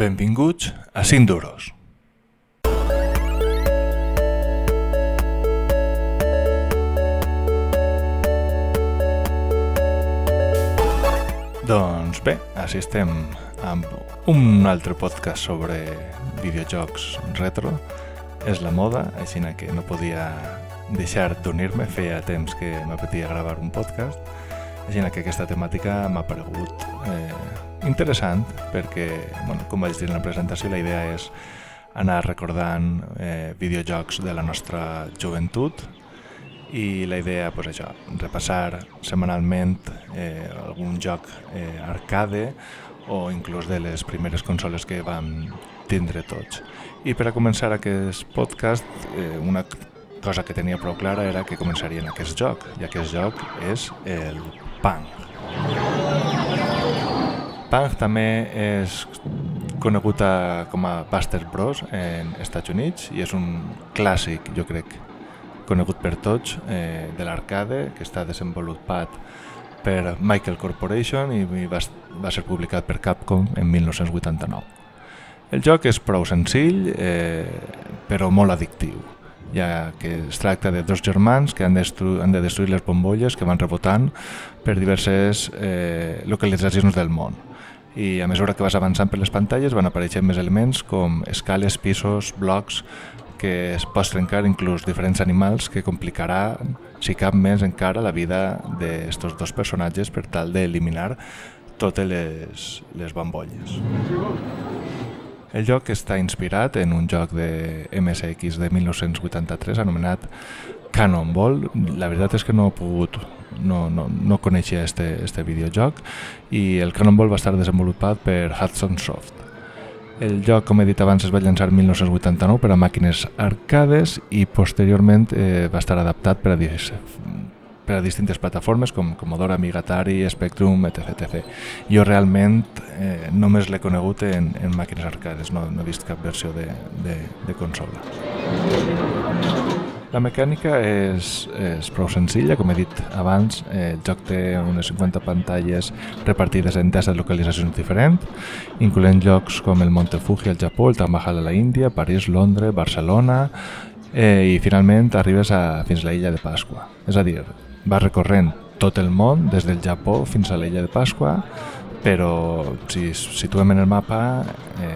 Benvinguts a 5 duros. Doncs bé, així estem amb un altre podcast sobre videojocs retro. És la moda, així que no podia deixar d'unir-me, feia temps que m'apetia gravar un podcast, així que aquesta temàtica m'ha paregut interessant perquè, com vaig dir en la presentació, la idea és anar recordant videojocs de la nostra joventut i la idea, repassar setmanalment algun joc arcade o inclús de les primeres consoles que vam tindre tots. I per a començar aquest podcast, una cosa que tenia prou clara era que començaria en aquest joc, i aquest joc és el Pong. Pong també és conegut com a Buster Bros en Estats Units i és un clàssic, jo crec, conegut per tots, de l'arcade, que està desenvolupat per Michael Corporation i va ser publicat per Capcom en 1989. El joc és prou senzill, però molt addictiu, ja que es tracta de dos germans que han de destruir les bombolles que van rebotant per diverses localitzacions del món. I a mesura que vas avançant per les pantalles van apareixent més elements com escales, pisos, blocs, que es pot trencar inclús diferents animals que complicaran, si cap més encara, la vida d'estos dos personatges per tal d'eliminar totes les bombolles. El joc està inspirat en un joc de MSX de 1983 anomenat Cannonball. La veritat és que no coneixia este videojoc i el Cannonball va estar desenvolupat per Hudson Soft. El joc, com he dit abans, es va llançar el 1989 per a màquines arcades i posteriorment va estar adaptat per a distintes plataformes com Commodore, Amiga, Atari, Spectrum, etc. Jo realment només l'he conegut en màquines arcades, no he vist cap versió de consola. La mecànica és prou senzilla, com he dit abans, el joc té unes 50 pantalles repartides en 10 localitzacions diferents, incloent llocs com el Monte Fuji al Japó, el Taj Mahal a la Índia, París, Londres, Barcelona i finalment arribes fins a l'illa de Pasqua. És a dir, vas recorrent tot el món des del Japó fins a l'illa de Pasqua, però si situem en el mapa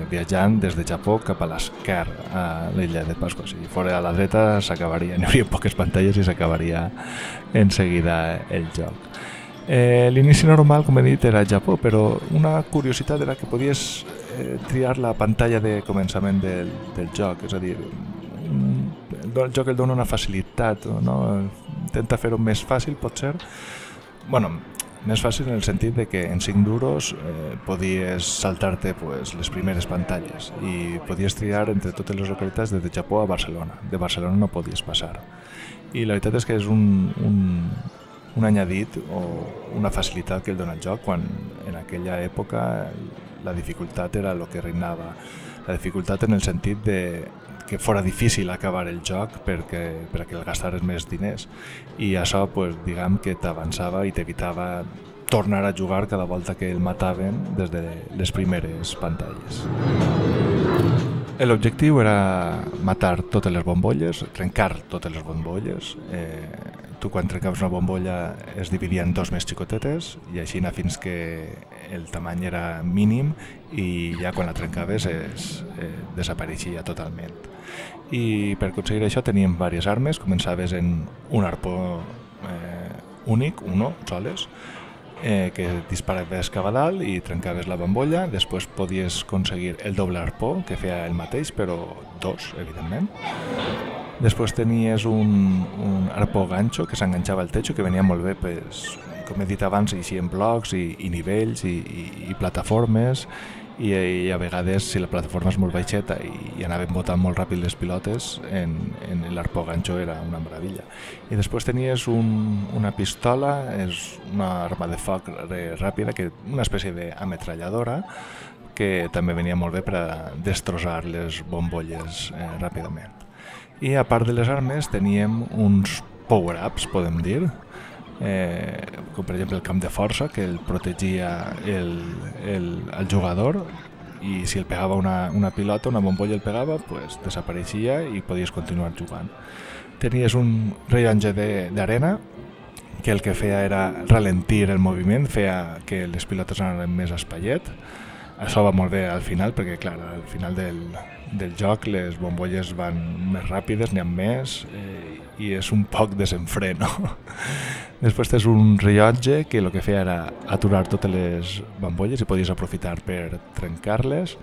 viatjant des de Japó cap a l'esquerra a l'illa de Pasqua. Si fos a la dreta s'acabaria, n'hi hauria poques pantalles i s'acabaria en seguida el joc. L'inici normal, com he dit, era al Japó, però una curiositat era que podies triar la pantalla de començament del joc, és a dir, el joc el dona una facilitat, intenta fer-ho més fàcil, potser. Més fàcil en el sentit de que en 5 duros podies saltar-te les primeres pantalles i podies triar entre totes les localitats des de Japó a Barcelona. De Barcelona no podies passar. I la veritat és que és un añadit o una facilitat que el dona el joc quan en aquella època la dificultat era el que reinava. La dificultat en el sentit de que fora difícil acabar el joc perquè el gastares més diners i això diguem que t'avançava i t'evitava tornar a jugar cada volta que el mataven des de les primeres pantalles. L'objectiu era matar totes les bombolles, trencar totes les bombolles. Tu quan trencaves una bombolla es dividia en dos més xicotetes i així fins que el tamany era mínim i ja quan la trencaves desapareixia totalment. I per aconseguir això teníem diverses armes. Començaves en un arpó únic, soles, que disparaves cap a dalt i trencaves la bombolla. Després podies aconseguir el doble arpó, que feia el mateix, però 2, evidentment. Després tenies un arpó ganxo que s'enganxava al techo, que venia molt bé, com he dit abans, així en blocs i nivells i plataformes, i a vegades, si la plataforma és molt baixeta i anaven botant molt ràpid les pilotes, en l'arpó ganxo era una meravella. I després tenies una pistola, és una arma de foc ràpida, una espècie d'ametralladora, que també venia molt bé per a destrossar les bombolles ràpidament. I a part de les armes teníem uns power-ups, podem dir, com per exemple el camp de força, que el protegia el jugador i si el pegava una pilota, una bombolla el pegava, pues desapareixia i podies continuar jugant. Tenies un rellotge d'arena que el que feia era ralentir el moviment, feia que les pilotes anaven més espaiet. Això va molt bé al final, perquè clar, al final del joc les bombolles van més ràpides, n'hi ha més, i és un poc desenfreno. Després tens un rellotge que el que feia era aturar totes les bombolles i podies aprofitar per trencar-les.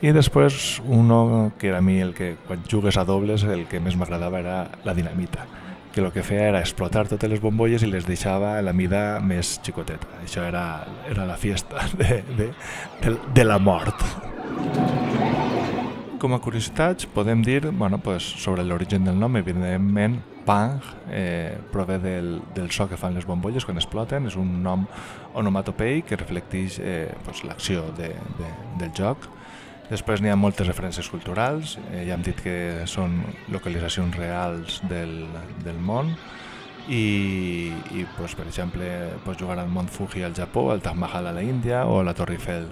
I després uno que era a mi el que quan jugues a dobles el que més m'agradava era la dinamita, que el que feia era explotar totes les bombolles i les deixava a la mida més xicoteta. Això era la fiesta de la mort. Com a curiositats podem dir sobre l'origen del nom, evidentment Pang prové del so que fan les bombolles quan exploten, és un nom onomatopeic que reflecteix l'acció del joc. Després n'hi ha moltes referències culturals, ja hem dit que són localitzacions reals del món i per exemple pots jugar al Mont Fuji al Japó, al Taj Mahal a la Índia o a la Torre Eiffel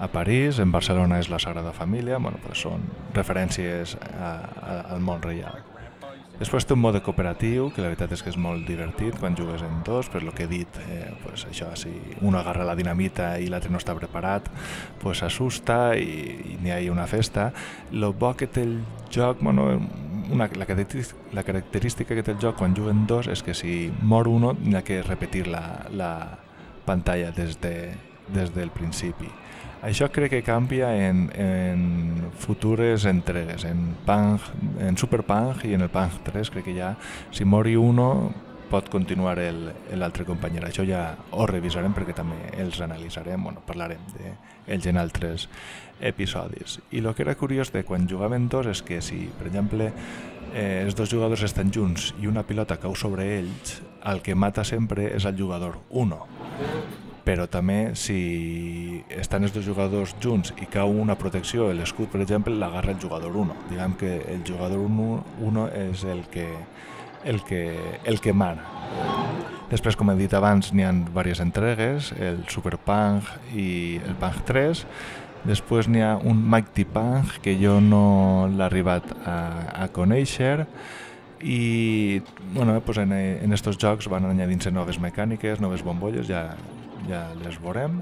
a París, en Barcelona és la Sagrada Família, són referències al món real. Després té un mode cooperatiu, que la veritat és que és molt divertit quan jugues en dos, per lo que he dit, això, si un agarra la dinamita i l'altre no està preparat, s'assusta i n'hi ha una festa. El bo que té el joc, la característica que té el joc quan juguen dos és que si mor uno n'hi ha que repetir la pantalla des del principi. Això crec que canvia en futures entregues, en Super Pang i en el Pang 3, crec que ja si mori uno pot continuar l'altre company. Això ja ho revisarem perquè també els analitzarem, parlarem d'ells en altres episodis. I el que era curiós de quan jugaven dos és que si, per exemple, els dos jugadors estan junts i una pilota cau sobre ells, el que mata sempre és el jugador 1. Però també si estan els dos jugadors junts i cau una protecció, l'escut per exemple, l'agarra el jugador 1. Diguem que el jugador 1 és el que mana. Després, com he dit abans, n'hi ha diverses entregues, el Super Pang i el Pang 3. Després n'hi ha un Mighty Pang que jo no l'he arribat a conèixer. I en estos jocs van añadir-se noves mecàniques, noves bombolles, ja les veurem,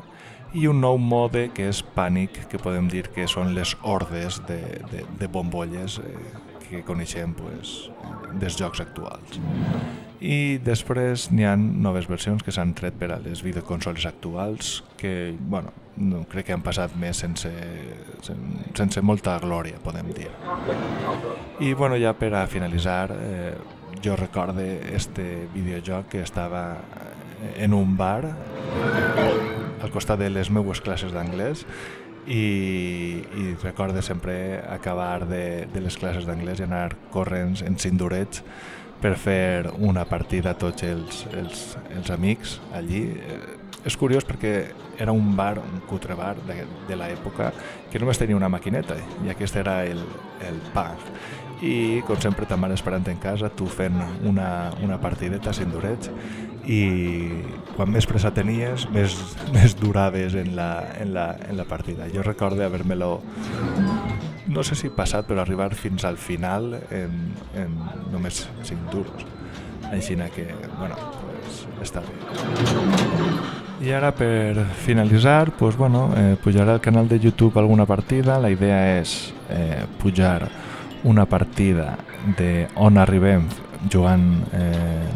i un nou mode que és pànic, que podem dir que són les hordes de bombolles que coneixem dels jocs actuals. I després n'hi ha noves versions que s'han tret per a les videoconsoles actuals que, no crec que han passat més sense molta glòria, podem dir. I ja per a finalitzar, jo recorde este videojoc que estava en un bar al costat de les meues classes d'anglès i recorde sempre acabar de les classes d'anglès i anar corrents en cindurets per fer una partida a tots els amics allí. És curiós perquè era un bar, un cutre bar de l'època que només tenia una maquineta i aquest era el Pang. I com sempre ta mare esperant en casa, tu fent una partideta a cindurets i quan més pressa tenies més duraves en la partida. Jo recordo haver-me-lo, no sé si passat, però arribar fins al final en només 5 duros. Així que, està bé. I ara per finalitzar, pujaré al canal de YouTube alguna partida. La idea és pujar una partida d'on arribem jugant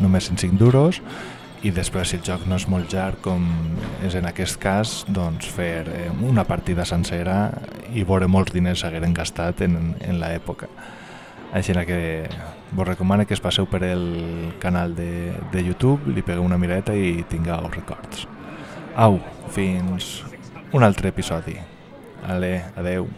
només en 5 duros i després, si el joc no és molt llarg, com és en aquest cas, doncs fer una partida sencera i veure molts diners s'hagueren gastat en l'època. Així que vos recomano que es passeu per el canal de YouTube, li pegueu una miradeta i tingueu records. Au, fins un altre episodi. Adeu.